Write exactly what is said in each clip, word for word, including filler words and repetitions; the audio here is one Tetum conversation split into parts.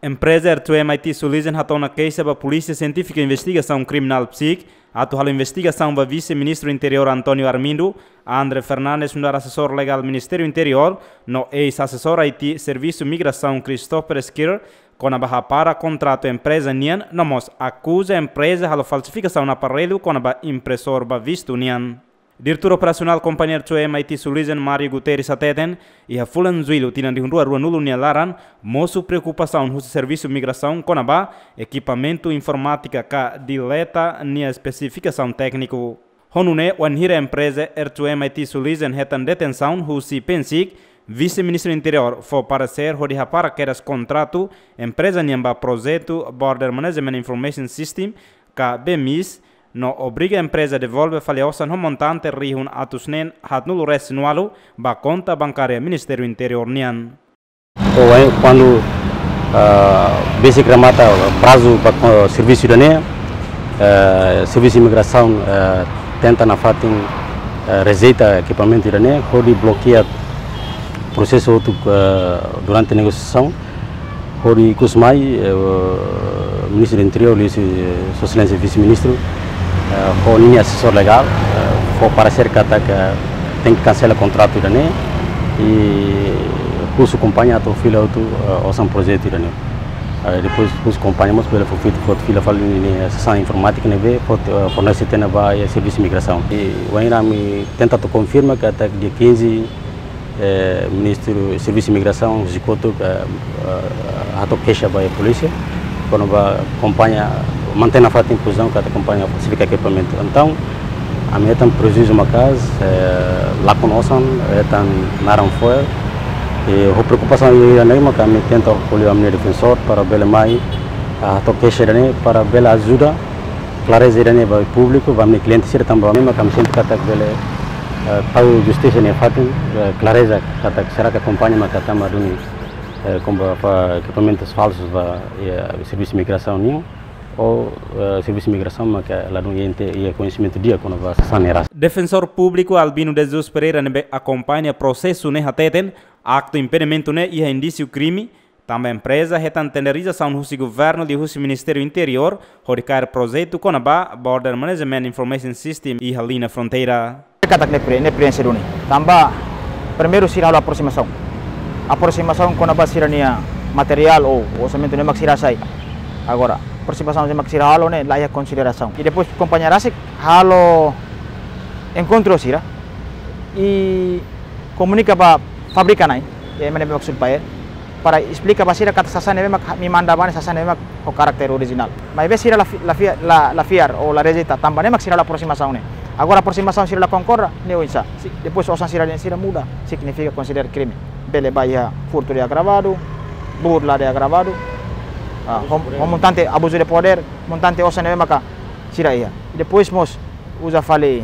Empreza R two M I T Solution hato'o ona keixa ba Polísia Sientífika Investigasaun Kriminál, PSIK, atu halo investigasaun ba Vise-Ministru Interiór António Armindo, André Fernandes nu'udar asesór legál Ministériu Interiór, no eis-asesór I T Servisu Migrasaun Christopher Skir, kona-ba hapara kontratu empreza nian, no mós akuza empreza halo falsifikasaun aparellu kona-ba impresór ba vistu nian. Diretór Operasionál Kompañia R two M I T Solution, Mário Guterres, hateten, iha fulan Jullu tinan rihun rua ruanulu nia laran, mosu preokupasaun husi Servisu Migrasaun kona-ba ekipamentu informátika ka dileta nia espesifikasaun tékniku. Ho nune'e, wainhira empreza R two M I T Solution hetan detensaun husi PNSIK, Vise-Ministru Interiór fó paresér hodi hapara kedas kontratu empreza nian ba projetu Border Management Information System, ka B M I S, no obriga empreza devolve fali osan ho montante rihun atus neen haatnulu resin ualu ba konta bankária Ministériu Interiór nian. Ou, eh, kuandu, ah, besik remata prazu ba, ah, servisu ida-ne'e, eh, Servisu Migrasaun, eh, tenta nafatin, eh, rejeita ekipamentu ida-ne'e, hodi blokeia prosesu hotu, eh, durante negosiasaun, hodi ikus mai, eh, Ministru Interiór, liuhusi Sua Exelénsia Vise-Ministru, eh, ho ninia asesór legál, eh, fó paresér katak tenke kansela kontratu ida-ne'e, i husu kompañia atu fila hotu, eh, osan projetu ida-ne'e. Eh, depois husu kompañia mós bele fó fit-, fó fila fali ninia sasán informátika ne'ebé fó, eh, fornese tiha ona ba, eh, Servisu Migrasaun. I wainhira ami tenta atu konfirma katak dia quinze, eh, Ministru Servisu Migrasaun husi kotuk, eh, eh, hato'o keixa ba iha polísia, kona-ba kompañia mantein nafatin pozisaun katak kompañia falsifika ekipamentu. Entaun, ami hetan prejuízu maka'as, eh, lakon osan, hetan naran fo'er, i ho preokupasaun ida-ne'e maka ami tenta ko'alia ho ami-nia defensór para bele mai, ah, hato'o keixa ida-ne'e para bele ajuda klareza ida-ne'e ba públiku, ba ami-nia kliente sira tanba ami maka ami sente katak bele, eh, tau justisa nia fatin, eh, klareza katak será que kompañia maka tama duni, eh, kompra ekipamentus falsus ba, eh, Servisu Migrasaun nian, ou, eh, Servisu Migrasaun maka ladún iha inte, iha koñesimentu di'ak kona-ba sasán ne'e rasik. Defensór Públiku Albino de Jesus Pereira ne'ebé akompaña prosesu ne'e hateten, aktu impedimentu ne'e iha indísiu krime, tanba empreza hetan tenderizasaun husi governu liuhusi Ministériu Interiór, hodi kaer projetu kona-ba Border Management Information System iha liña fronteira. Katak ne'e pre-, ne'e prensa duni. Tanba, primeiru sira halo aprosimasaun. Aprosimasaun kona-ba sira-nia materiál ou orsamentu ne'e mak sira hasai. Agora, aprosimasaun ne'e mak sira halo ne'e la iha konsiderasaun. I depois kompañia rasik halo enkontru sira. I komunika ba fábrika na'in, eh, ema ne'ebé mak supplier, para esplika ba sira katak sasán ne'ebé mak ami manda ba ne'e sasán ne'ebé mak ho karakter orijinál. Maibé sira la fi-, la fia-, la, la fiar ou la rejeita, tanba ne'e mak sira la aprosimasaun ne'e. Agora aprosimasaun sira la konkorda, ne'e oinsá. Si, depois osan sira dehan sira muda, signifika konsidera krime. Bele ba iha furtu de agravadu, burla de agravadu, ah, ho, ho montante abuzu de podér, montante osan ne'ebé maka sira iha. I depois mós uza fali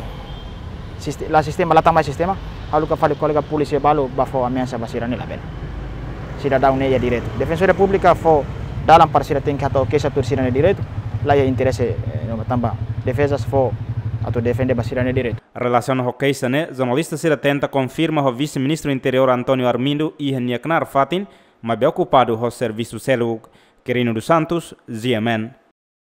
siste-, la sistema, la tama sistema, haruka fali kolega polísia balu ba fó ameasa ba sira ne'e labele. Sidadaun ne'e iha direitu. Defensoria Públika fó dalan para sira tenke hato'o keixa tuir sira-nia direitu, la iha interese, eh, no tanba defeza fó atu defende ba sira-nia direitu. Relasiona ho keixa ne'e, jornalista sira tenta konfirma ho Vise-Ministru Interiór António Armindo iha nia knaar fatin, maibé okupadu ho servisu seluk. Quirino dos Santos, G M N.